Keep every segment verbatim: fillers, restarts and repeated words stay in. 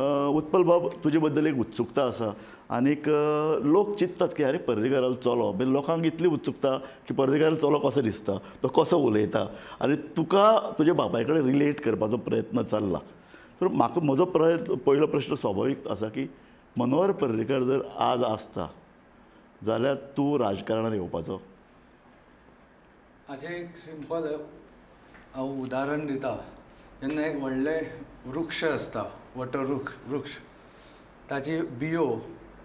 उत्पल बाब, तुजे बद्दल एक उत्सुकता आसा आनीक लोक चिंततात की अरे पर्रीकारालो चलो, म्हणजे लोकांक इतली उत्सुकता की पर्रीकारालो चलो कसो दिसता, तो कसो उलयता आनी तुका तुज्या बापाय कडेन रिलेट करपाचो प्रयत्न चल्ला. तर म्हाका म्हजो प्रयत्न पयलो प्रश्न स्वाभावीक आसा की मनोहर पर्रीकार जर आज आसता जाल्यार तूं राजकारणान येवपाचो? हाचें एक सिंपल हांव उदाहरण दिता. जेन्ना एक व्हडलें वृक्ष आसता, वटवृक्ष वृक्ष, ताची बियो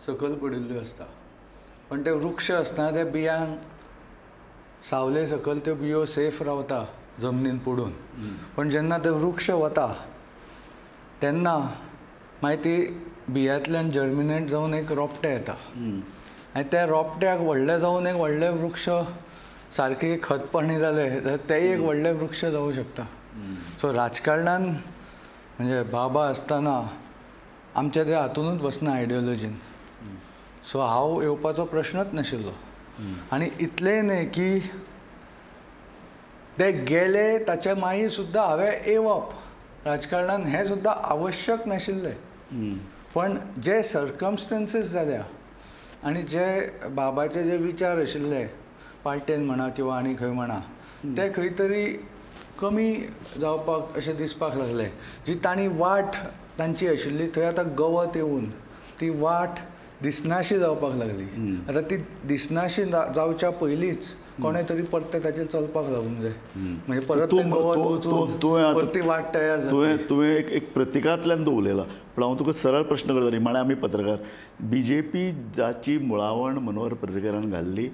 सकयल पडिल्ल्यो आसता, पण ते वृक्ष आसतना त्या बियांक सावले सकयल त्यो बियो सेफ रावता जमनीन पडून. पण जेन्ना ते वृक्ष वता तेन्ना मागीर ती बियांतल्यान जर्मिनेट जावन एक रोपटें येता आनी त्या रोपट्याक व्हडलें जावन एक व्हडलें वृक्ष सारकी खतपाणी जालें जाल्यार तेंय एक व्हडलें वृक्ष जावं शकता. सो राजकारणान म्हणजे बाबा आसतना आमच्या ते हातूनच बसना आयडियोलॉजीन. सो हांव येवपाचो प्रश्नच नाशिल्लो. आनी इतलेंय न्हय की ते गेले ताचे मागीर सुद्दां हांवें येवप राजकारणान हें सुद्दां आवश्यक नाशिल्लें. पण जे सर्कमस्टन्सीस जाल्या आनी जे बाबाचे जे विचार आशिल्ले पार्टेन म्हणा किंवा आनी खंय म्हणा ते खंय तरी कमी जावपाक अशें दिसपाक लागलें. जी तांणी वाट तांची आशिल्ली थंय आतां गवत येवन ती वाट दिसनाशी जावपाक लागली. आतां ती दिसनाशी जावच्या पयलींच कोणें तरी परतें ताचेर चलपाक लागूंक जाय, म्हणजे परत गवत वचून परती वाट तयार जाता. तुवें तुवें एक एक प्रतिकांतल्यान तूं उलयला, पूण हांव तुका सरळ प्रश्न करता. निमाणें आमी पत्रकार, बी जे पी जाची मुळावण मनोहर पर्रीकारान घाल्ली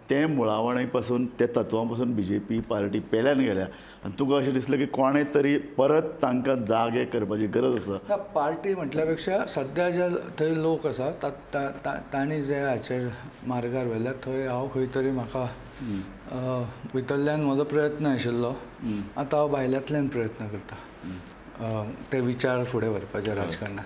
तें मुळावणे पासून त्या तत्वां पासून बी जे पी पार्टी पेल्यान गेल्या आनी तुका अशें दिसलें की कोणें तरी परत तांकां जागे करपाची गरज आसा? पार्टी म्हटल्या पेक्षा सद्या जे थंय लोक आसा तांणी जे हाचेर मार्गार व्हेल्या थंय हांव खंय तरी म्हाका भितरल्यान म्हजो प्रयत्न आशिल्लो. आतां हांव भायल्यांतल्यान प्रयत्न करता ते विचार फुडें व्हरपाचे राजकारणान.